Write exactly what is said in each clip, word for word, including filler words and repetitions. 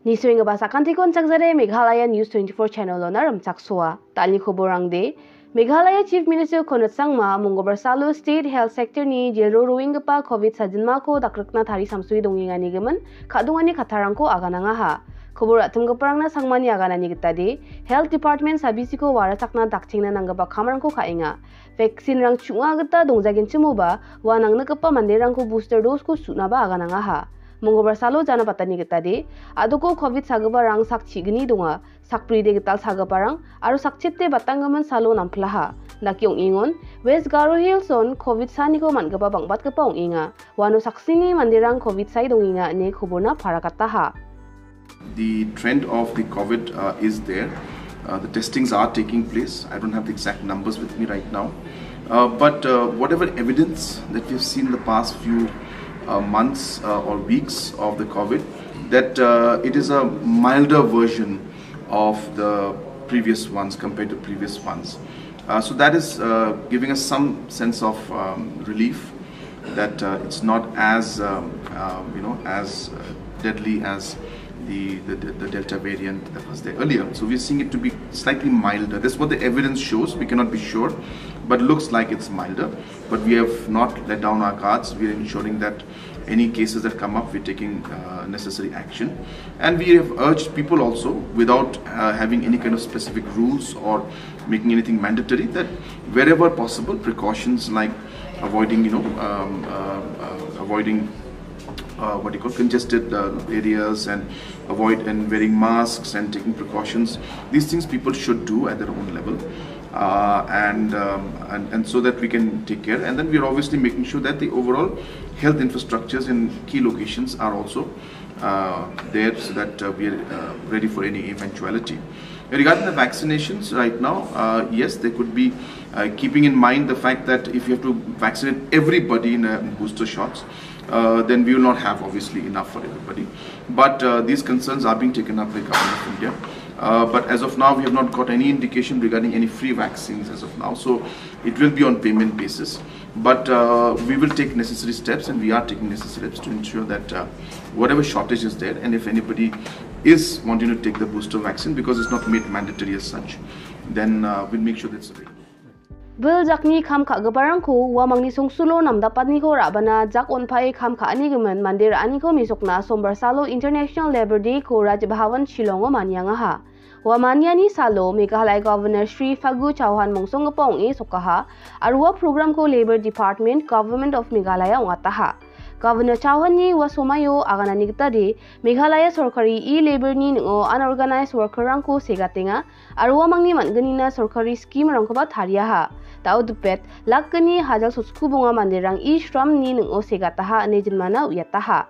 Nisoenggipa sakantiko on·chakjare Meghalaya News twenty-four channel-ona rimchaksoa. Dalni koborangde, Meghalaya Chief Minister Conrad Sangma, Mongolbar salo State Health Sector-ni jilro roenggipa covid sajilmako dakrikna tari samsue dongenganigimin ka·dongani kattarangko aganangaha. Kobor ra·timgiparangna Sangmani aganani gitade, Health Department sabisiko warachakna dakchengna nanggipa kamrangko ka·enga. Vaccine-rang chu·nga gita dongjagenchimoba, ua nangnikgipa manderangko booster dose-ko su·naba aganangaha. Mongolbar salo jana patani gitade, a·doko covid sagiparang sak chigni donga, sakbride gital sagiparang, aro sakchete batanggimin salo namplaha. Dake ong·engon, West Garo Hills-on covid saniko man·gipa bang·batgipa ong·enga. Uano saksini manderang covid sae dongenga ine koborna paragataha. The trend of the covid, uh, is there. Uh, the testings are taking place. I don't have the exact numbers with me right now. Uh, but, uh, whatever evidence that we've seen the past few, uh, months, uh, or weeks of the covid, that, uh, it is a milder version of the previous ones compared to previous ones. Uh, so that is, uh, giving us some sense of, um, relief that, uh, it's not as, um, um, you know, as, uh, deadly as the, the, the Delta variant that was there earlier. So we're seeing it to be slightly milder. That's what the evidence shows. We cannot be sure, but looks like it's milder. But we have not let down our guards. We are ensuring that any cases that come up, we're taking, uh, necessary action. And we have urged people also, without, uh, having any kind of specific rules or making anything mandatory, that wherever possible, precautions like avoiding, you know, um, uh, uh, avoiding, uh, what do you call, congested, uh, areas, and avoid and wearing masks and taking precautions. These things people should do at their own level. Uh, and, um, and and so that we can take care. And then we are obviously making sure that the overall health infrastructures in key locations are also, uh, there, so that, uh, we are, uh, ready for any eventuality. Regarding the vaccinations right now, uh, yes, there could be, uh, keeping in mind the fact that if you have to vaccinate everybody in a booster shots, uh, then we will not have, obviously, enough for everybody. But, uh, these concerns are being taken up by the Government of India. Uh, but as of now, we have not got any indication regarding any free vaccines as of now. So it will be on payment basis. But, uh, we will take necessary steps, and we are taking necessary steps to ensure that, uh, whatever shortage is there, and if anybody is wanting to take the booster vaccine, because it's not made mandatory as such, then, uh, we'll make sure that's available. Bil jakni kam ka·giparangko uamangni songsulo namdapaniko ra·bana jak on·pae kam ka·anigimin mande ra·aniko mesokna Sombar salo International Labour Day-ko Raj Bhavan Shillongo maniangaha. Ua maniani salo Meghalaya Governor Shri Fagu Chauhan mongsonggipa ong·e sokaha, aro ua programko Labour Department, Government of Meghalaya ong·ataha. Governor Chauhanni ua somaio aganani gitade, Meghalaya sorkari e-labour-ni ning·o unorganized worker-rangko segatenga, aro uamangni man·gnina sorkari scheme-rangkoba tariaha. Da·o dipet, lakgni hajal sotskubonga manderang e-shram-ni ning·o segataha ine jinmana uiataha.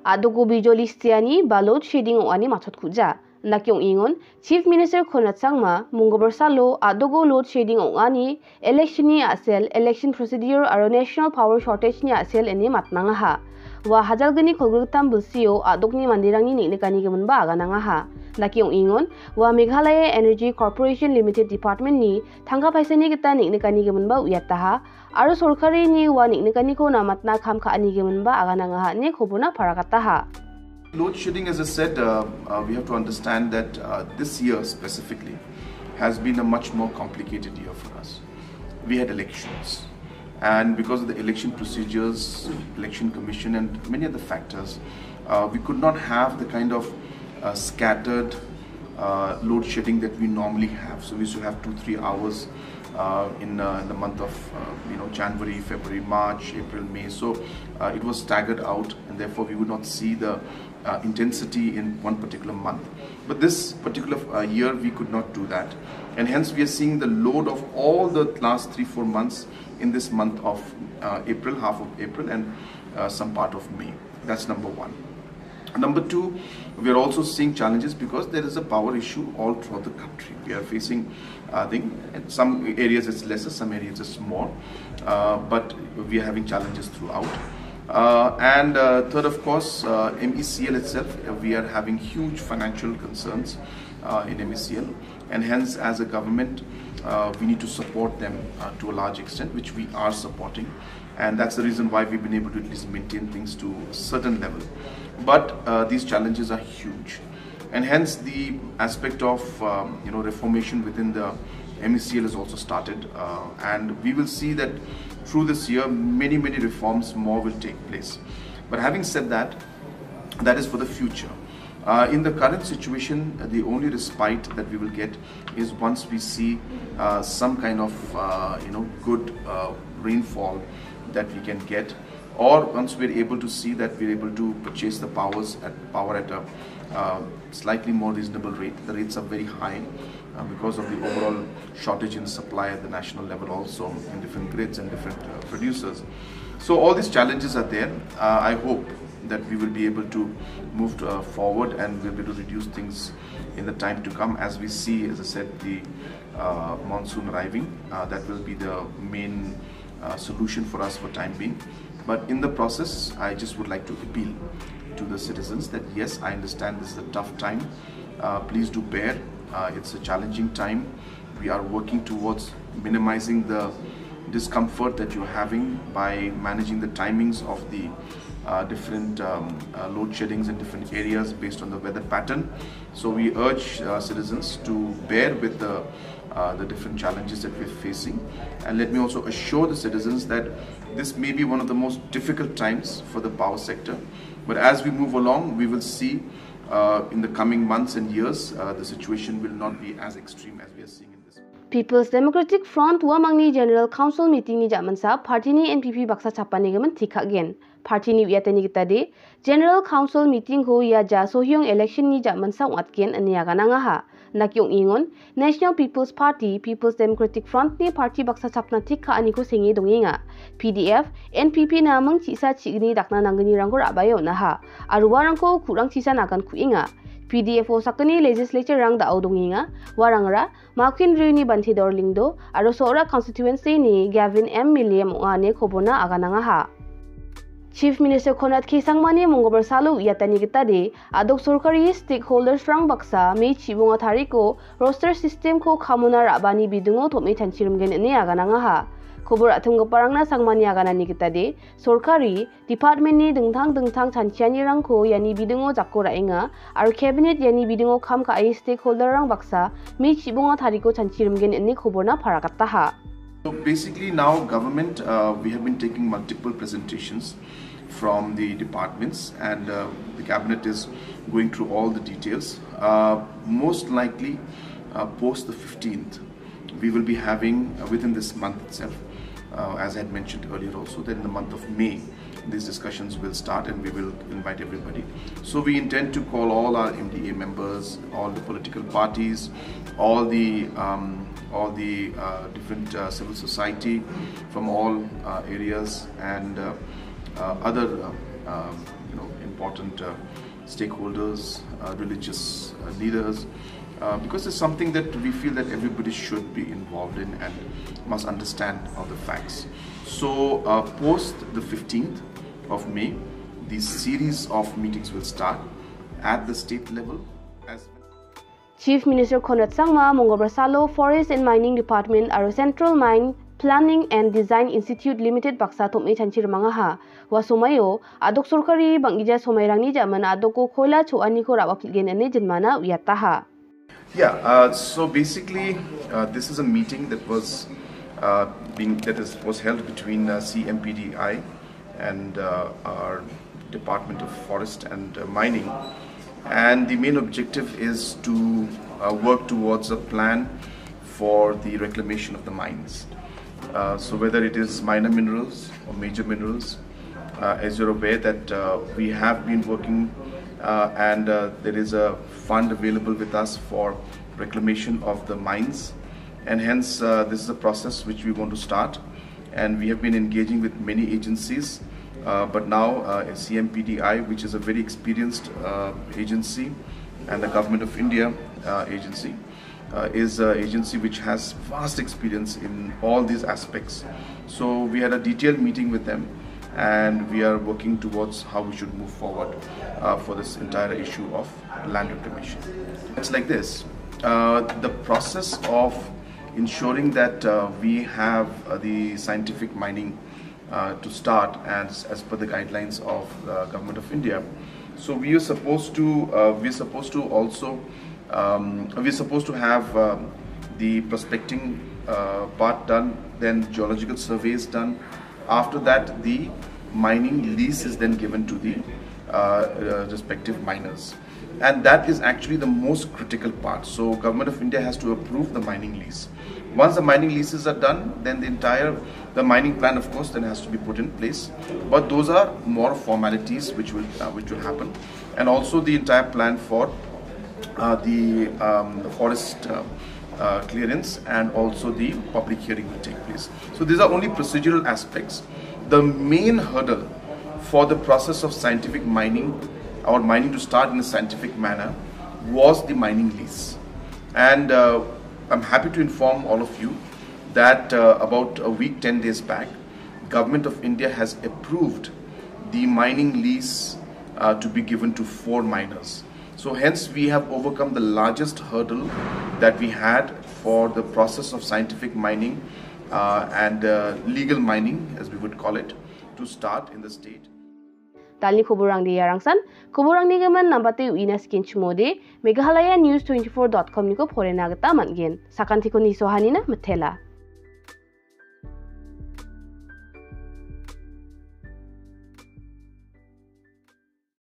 A·doko bijoli stiani ba load shedding ong·ani matchotkuja. Indake ong·engon, Chief Minister Conrad Sangma, Mongolbar salo a·doko load shedding ong·ani, election-ni a·sel, election procedure aro national power shortage-ni a·sel ine matnangaha. Ua hajalgni kolgrikgittam bilsio a·dokni manderangni neng·nikanigiminba aganangaha. Indake ong·engon, ua Meghalaya Energy Corporation Limited Department-ni tangka paisani gita neng·nikanigiminba uiataha, aro sorkarini ua neng·nikaniko namatna kam ka·anigiminba aganangaha ine koborna paragataha. Load shedding, as I said, uh, uh, we have to understand that, uh, this year specifically has been a much more complicated year for us. We had elections, and because of the election procedures, election commission, and many other factors, uh, we could not have the kind of, uh, scattered, uh, load shedding that we normally have. So we used to have two, three hours, uh, in, uh, in the month of, uh, you know, January, February, March, April, May. So, uh, it was staggered out, and therefore we would not see the, uh, intensity in one particular month. But this particular, uh, year, we could not do that, and hence we are seeing the load of all the last three, four months in this month of, uh, April, half of April, and, uh, some part of May. That's number one. Number two, we are also seeing challenges because there is a power issue all throughout the country. We are facing, I think, in some areas it's lesser, some areas it's more, uh, but we are having challenges throughout. Uh, and, uh, third, of course, uh, M E C L itself, uh, we are having huge financial concerns, uh, in M E C L, and hence, as a government, uh, we need to support them, uh, to a large extent, which we are supporting. And that's the reason why we've been able to at least maintain things to a certain level. But, uh, these challenges are huge. And hence the aspect of, um, you know, reformation within the M E C L has also started, uh, and we will see that through this year many, many reforms more will take place. But having said that, that is for the future. Uh, in the current situation, the only respite that we will get is once we see uh, some kind of, uh, you know, good uh, rainfall that we can get, or once we're able to see that we're able to purchase the powers at power at a uh, slightly more reasonable rate. The rates are very high uh, because of the overall shortage in supply at the national level, also in different grids and different uh, producers. So all these challenges are there. Uh, I hope that we will be able to move uh, forward and we'll be able to reduce things in the time to come. As we see, as I said, the uh, monsoon arriving, uh, that will be the main uh, solution for us for time being. But in the process, I just would like to appeal to the citizens that yes, I understand this is a tough time. Uh, please do bear. Uh, it's a challenging time. We are working towards minimizing the discomfort that you're having by managing the timings of the uh, different um, uh, load sheddings in different areas based on the weather pattern. So we urge uh, citizens to bear with the uh, the different challenges that we're facing. And let me also assure the citizens that this may be one of the most difficult times for the power sector. But as we move along, we will see uh, in the coming months and years, uh, the situation will not be as extreme as we are seeing in this. People's Democratic Front uamangni General Council meeting-ni jamansa party-ni N P P baksa chapanigimin tikakgen. Party-ni uiatani gitade, General Council meeting-ko ia ja Sohyong election-ni jamansa ong·atgen ine aganangaha. Naki ong·engon, National People's Party, People's Democratic Front-ni party baksa chapna tik ka·aniko senge dongenga. P D F, N P P naming chisa chigni dakna nanggnirangko ra·bae on·aha. Aro uarangko ku·rang chisa nagan ku·enga. P D F-o sakgni legislature-rang da·o dongenga. Uarangara Makwin Riuni Bantedor Lyngdoh aro Sohra constituency-ni Gavin M Milliam ong·a ine koborna aganangaha. Chief Minister Conrad K Sangmani monggobar salo uiatani gitade, a·dok sorkari stakeholders-rang baksa May chibonga tariko roster system-ko kamona ra·bani bidingo tom·e chanchirimgen ine aganangaha. Kobor a·tonggiparangna Sangmani aganani gitade, sorkari, department-ni dingtang dingtang chanchianirangko iani bidingo jako ra·enga aro cabinet iani bidingo kam ka·e stakeholder-rang baksa May chibonga tariko chanchirimgen ine koborna paragataha. So basically now government, uh, we have been taking multiple presentations from the departments and uh, the cabinet is going through all the details. Uh, most likely uh, post the fifteenth, we will be having uh, within this month itself, uh, as I had mentioned earlier also, that in the month of May, these discussions will start and we will invite everybody. So we intend to call all our M D A members, all the political parties, all the um, all the uh, different uh, civil society from all uh, areas and uh, uh, other uh, um, you know important uh, stakeholders, uh, religious uh, leaders, uh, because it's something that we feel that everybody should be involved in and must understand all the facts. So, uh, post the fifteenth of May, the series of meetings will start at the state level as well. Chief Minister Conrad Sangma monggobar salo Forest and Mining Department aro Central Mine Planning and Design Institute Limited baksa tom·e chanchirimangaha. Ua somaio a·dok sorkari bang·gija somairangni jaman a·doko koila cho·aniko ra·bapilgen ine jinmana uiataha. Yeah, uh, so basically, uh, this is a meeting that was uh, being that is was held between uh, C M P D I and uh, our Department of Forest and uh, Mining, and the main objective is to uh, work towards a plan for the reclamation of the mines. Uh, so whether it is minor minerals or major minerals, uh, as you're aware that uh, we have been working uh, and uh, there is a fund available with us for reclamation of the mines, and hence uh, this is a process which we want to start, and we have been engaging with many agencies, uh, but now uh, C M P D I, which is a very experienced uh, agency and a Government of India uh, agency, uh, is an agency which has vast experience in all these aspects. So we had a detailed meeting with them, and we are working towards how we should move forward uh, for this entire issue of land reclamation. It's like this. Uh, the process of ensuring that uh, we have uh, the scientific mining uh, to start as, as per the guidelines of the Government of India, So we are supposed to, uh, we're supposed to also, um, we're supposed to have um, the prospecting uh, part done, then geological surveys done. After that, the mining lease is then given to the uh, uh, respective miners. And that is actually the most critical part. So government of India has to approve the mining lease. Once the mining leases are done, then the entire, the mining plan, of course, then has to be put in place. But those are more formalities which will, uh, which will happen, and also the entire plan for uh, the um, forest uh, uh, clearance, and also the public hearing will take place. So these are only procedural aspects. The main hurdle for the process of scientific mining, or mining to start in a scientific manner, was the mining lease. And uh, I'm happy to inform all of you that uh, about a week, ten days back, Government of India has approved the mining lease uh, to be given to four miners. So hence we have overcome the largest hurdle that we had for the process of scientific mining uh, and uh, legal mining, as we would call it, to start in the state. Dalni koborangde iarangsan, koborangni gimin nambate uina skin chimode, Meghalaya News twenty-four dot com niko porena gita man·gen. Sakantiko nisohanina mitela.